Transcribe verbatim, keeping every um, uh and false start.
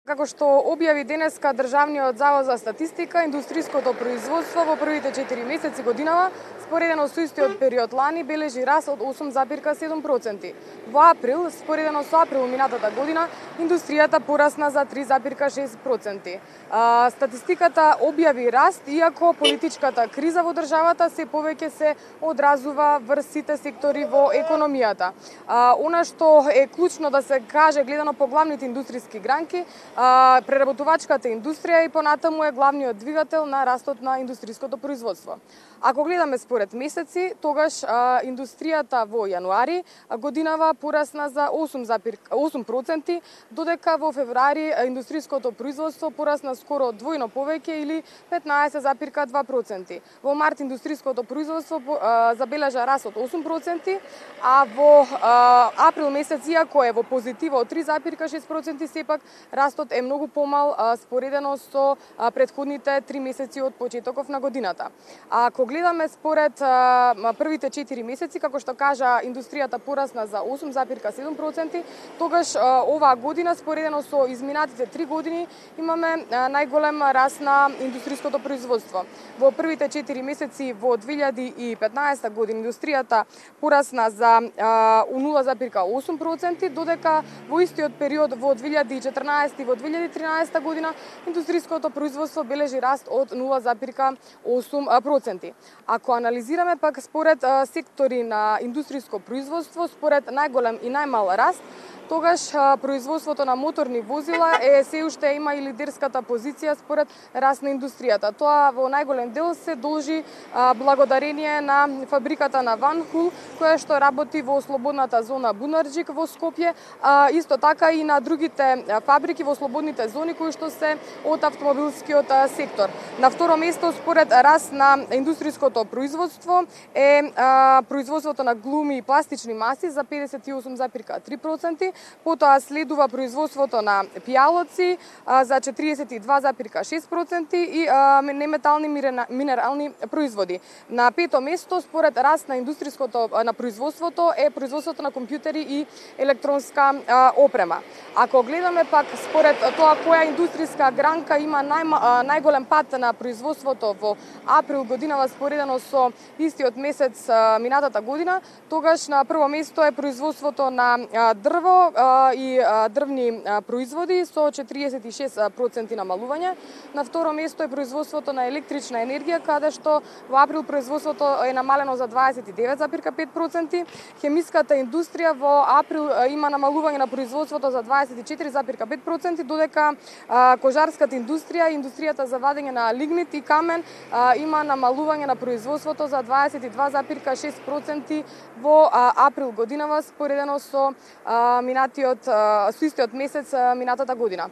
Како што објави денеска Државниот завод за статистика, индустријското производство во првите четири месеци годинава, споредено со истиот период лани, бележи раст од осум зарез и седум проценти. Во април, споредено со април минатата година, индустријата порасна за три зарез и шест проценти. Статистиката објави раст, иако политичката криза во државата се повеќе се одразува врз сите сектори во економијата. Она што е клучно да се каже гледано по главните индустријски гранки, преработувачката индустрија и понатаму е главниот двигател на растот на индустријското производство. Ако гледаме според месеци, тогаш а, индустријата во јануари годинава порасна за осум зарез и осум проценти, додека во февруари индустријското производство порасна скоро двојно повеќе или петнаесет зарез и два проценти. Во март индустријското производство а, забележа раст од осум проценти, а во а, април месец, иако е во позитива од три зарез и шест проценти, сепак растот е многу помал а, споредено со а, претходните три месеци од почетоков на годината. А ако гледаме според а, првите четири месеци, како што кажа, индустријата порасна за осум зарез и седум проценти, тогаш а, оваа година споредено со изминатите три години имаме а, најголем раст на индустријското производство. Во првите четири месеци во две илјади и петнаесета година индустријата порасна за а, нула зарез и осум проценти, додека во истиот период во две илјади и четрнаесета и во две илјади и тринаесета година индустријското производство бележи раст од нула зарез и осум проценти. Ако анализираме пак според а, сектори на индустријско производство, според најголем и најмал раст, тогаш а, производството на моторни возила е се уште има и лидерската позиција според раст на индустријата. Тоа во најголем дел се должи а, благодарение на фабриката на Ванхул, која што работи во слободната зона Бунарџик во Скопје, а, исто така и на другите фабрики во слободните зони кои што се од автомобилскиот а, сектор. На второ место според раст на индустријското производство е а, производството на глуми и пластични маси за педесет и осум зарез и три проценти, потоа следува производството на пијалоци а, за четиридесет и два зарез и шест проценти и а, неметални минерални производи. На пето место според раст на индустријското на производството е производството на компјутери и електронска а, опрема. Ако гледаме пак според тоа која индустријска гранка има нај, најголем пат на производството во април годинава споредено со истиот месец а, минатата година, тогаш на прво место е производството на а, дрво а, и а, дрвни а, производи со четиридесет и шест проценти намалување. На второ место е производството на електрична енергија, каде што во април производството е намалено за дваесет и девет зарез и пет проценти. Хемиската индустрија во април а, има намалување на производството за дваесет и четири зарез и пет проценти, додека а, кожарската индустрија, индустријата за вадење на лигнит и камен а, има намалување на производството за дваесет и два зарез и шест проценти во а, април годинава споредено со а, минатиот со истиот месец минатата година.